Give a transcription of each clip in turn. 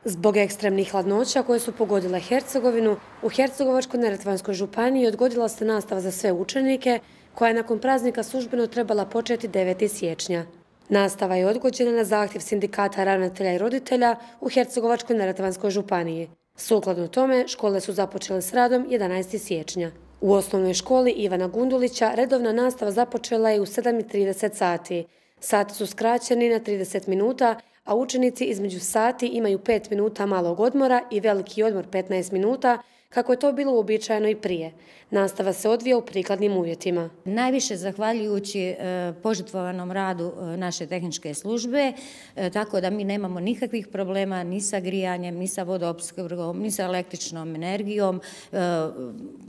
Zbog ekstremnih hladnoća koje su pogodile Hercegovinu, u Hercegovačko-neretvanskoj županiji odgodila se nastava za sve učenike, koja je nakon praznika službeno trebala početi 9. siječnja. Nastava je odgođena na zahtjev sindikata ravnatelja i roditelja u Hercegovačko-neretvanskoj županiji. Sukladno tome, škole su započele s radom 11. siječnja. U osnovnoj školi Ivana Gundulića redovna nastava započela je u 7:30 sati. Sati su skraćeni na 30 minuta, a učenici između sati imaju 5 minuta malog odmora i veliki odmor 15 minuta, kako je to bilo uobičajeno i prije. Nastava se odvija u prikladnim uvjetima. Najviše zahvaljujući požrtvovanom radu naše tehničke službe, tako da mi nemamo nikakvih problema ni sa grijanjem, ni sa vodoopskrbom, ni sa električnom energijom.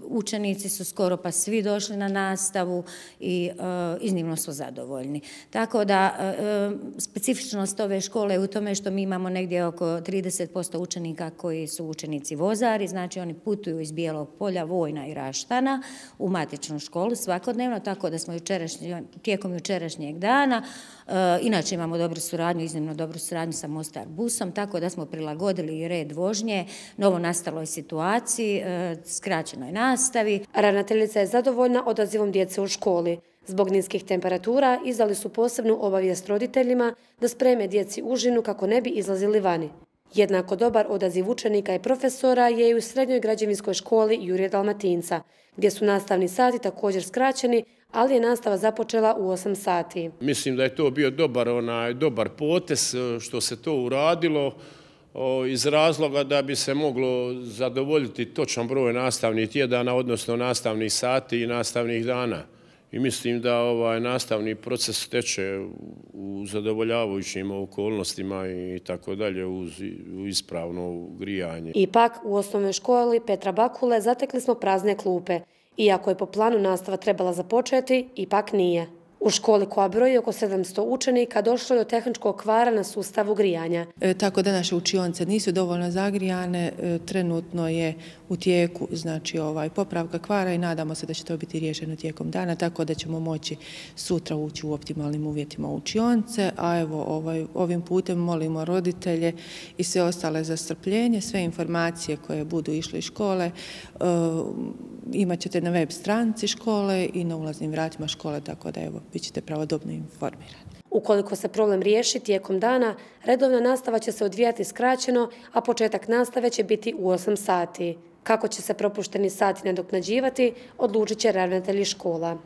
Učenici su skoro pa svi došli na nastavu i iznimno su zadovoljni. Tako da specifičnost ove škole je u tome što mi imamo negdje oko 30% učenika koji su učenici vozari, znači oni putuju iz Bijelog Polja, Vojna i Raštana u matičnu školu svakodnevno, tako da smo tijekom jučerašnjeg dana, inače imamo dobru suradnju, iznimno dobru suradnju sa Mostar busom, tako da smo prilagodili i red vožnje novonastaloj situaciji, skraćenoj nastavi. Ravnateljica je zadovoljna odazivom djece u školi. Zbog niskih temperatura izdali su posebnu obavijest roditeljima da spreme djeci užinu kako ne bi izlazili vani. Jednako dobar odaziv učenika i profesora je i u srednjoj građevinskoj školi Jurje Dalmatinca, gdje su nastavni sati također skraćeni, ali je nastava započela u 8 sati. Mislim da je to bio dobar potez što se to uradilo iz razloga da bi se moglo zadovoljiti točan broj nastavnih tjedana, odnosno nastavnih sati i nastavnih dana. I mislim da nastavni proces teče u zadovoljavajućim okolnostima i tako dalje uz ispravno grijanje. Ipak, u osnovnoj školi Petra Bakule zatekli smo prazne klupe. Iako je po planu nastava trebala započeti, ipak nije. U školi koja broji oko 700 učenika došlo je do tehničkog kvara na sustavu grijanja. Tako da naše učionice nisu dovoljno zagrijane, trenutno je u tijeku popravka kvara i nadamo se da će to biti riješeno tijekom dana, tako da ćemo moći sutra ući u optimalnim uvjetima u učionice, a evo ovim putem molimo roditelje i sve ostale za strpljenje, sve informacije koje budu išle iz škole imat ćete na web stranici škole i na ulaznim vratima škole, tako da evo, bit ćete pravodobno informirani. Ukoliko se problem riješi tijekom dana, redovna nastava će se odvijati skraćeno, a početak nastave će biti u 8 sati. Kako će se propušteni sati nadoknađivati, odlučit će ravnatelji škola.